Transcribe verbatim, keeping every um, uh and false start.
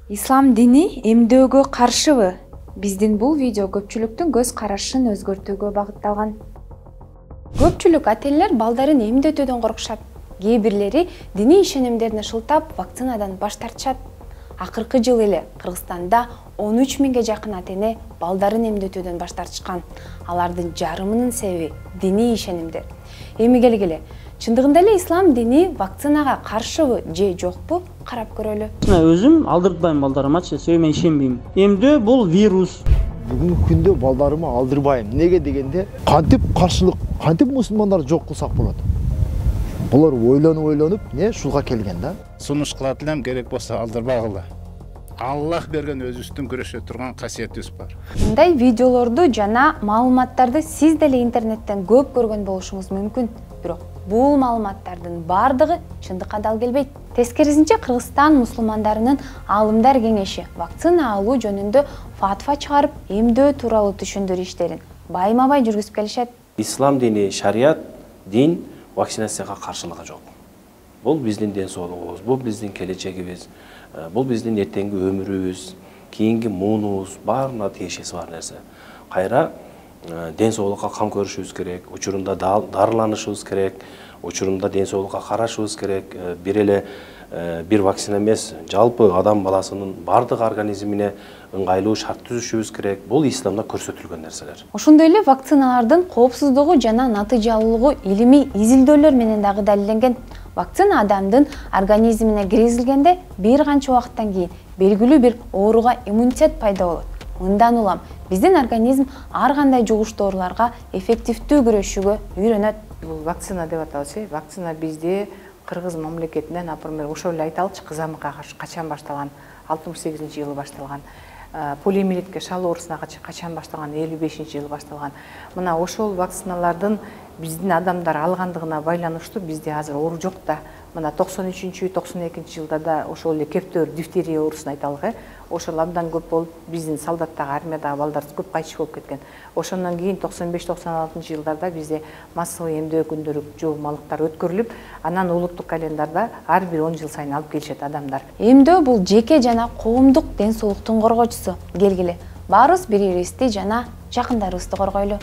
Ислам дини эмдөөгө каршыбы? Биздин бул видео көпчүлүктүн көз карашын өзгөртүүгө багытталган. Көпчүлүк ата-энелер балдарын эмдетүүдөн коркушат. Кээ бирлери диний ишенимдерин шылтап, вакцинадан баш тартышат. Акыркы жылы эле Кыргызстанда он үч миңге жакын ата-эне балдарын эмдетүүдөн баш тартышкан. Алардын жарымынын себеби диний ишенимдер. Эми келгиле, чындыгында эле ислам дини вакцинага каршыбы же жокпу карап көрөлү. Өзүм алдыртпайм балдарымачы, себеби мен ишенбейм. Эмдөө бул вирус. Бүгүнкү күндө балдарыма алдырбайм. Неге дегенде, кантип каршылык, кантип мусулмандар жок кылсак болот? Булар ойлонуп ойлонуп, не ушуга келген да. Сунуш кылат элем, керек болсо алдырбагыла. Аллах берген өзүбүздүн күрөшө турган касиетибиз бар. Мындай видеолорду жана маалыматтарды сиз деле интернеттен көп көргөн болушуңуз мүмкүн. Бирок бул маалыматтардын бардыгы чындыкка дал келбейт. Тескерисинче, Кыргызстан мусулмандарынын аалымдар кеңеши вакцина алуу жөнүндө фатва чыгарып, эмдөө тууралуу түшүндүрүү иштерин байма-бай жүргүзүп келишет. Ислам дини, шарият, дин вакцинацияга каршылыгы жок. Бул биздин ден соолугубуз, бул биздин келечегибиз, бул биздин эртеңки өмүрүбүз, кийинки муунубуз, баарына тиешеси бар нерсе. Кайра ден соолукка кам көрүшүбүз керек, учурунда дарыланышыбыз керек, учурунда ден соолукка карашыбыз керек. Бир эле бир вакцина эмес, жалпы адам баласынын бардык организмине ыңгайлуу шарт түзүшүбүз керек. Бул исламда көрсөтүлгөн нерселер. Ошондой эле вакциналардын коопсуздугу жана натыйжалуулугу илимий изилдөөлөр менен дагы далилденген. Вакцина адамдын организмине киргизилгенде бир канча убакыттан кийин белгилүү бир ооруга иммунитет пайда болот. Мындан улам биздин организм ар кандай жугуш дооруларга эффективдүү күрөшүүгө үйрөнөт. Бул вакцина деп атабыз, вакцина бизде Кыргыз мамлекетинде, например, ошол эле айталычы, кызамыкка качан башталган? алтымыш сегизинчи жылы башталган. Полиомиелитке шал оорусуна качан башталган? элүү бешинчи жылы башталган. Мына ошол вакциналардын биздин адамдар алгандыгына байланыштуу бизде азыр оору жок да. Мына токсон үчүнчү токсон экинчи жылдарда ошол эле кептөр дифтерия оорусун айталык, ошол абдан көп болуп, биздин солдаттагы, армиядагы балдар көп кайтыш болуп кеткен. Ошондон кийин токсон беш токсон алтынчы жылдарда бизде массовый эмдөө күндөрү жоомалыктар өткөрүлүп, анан улуттук календарда ар бир он жыл сайын алып келишет адамдар. Эмдөө бул жеке жана коомдук ден соолуктун коргоочусу. Келгиле, баарыбыз бири-бирибизди жана жакындарыбызды коргойлу.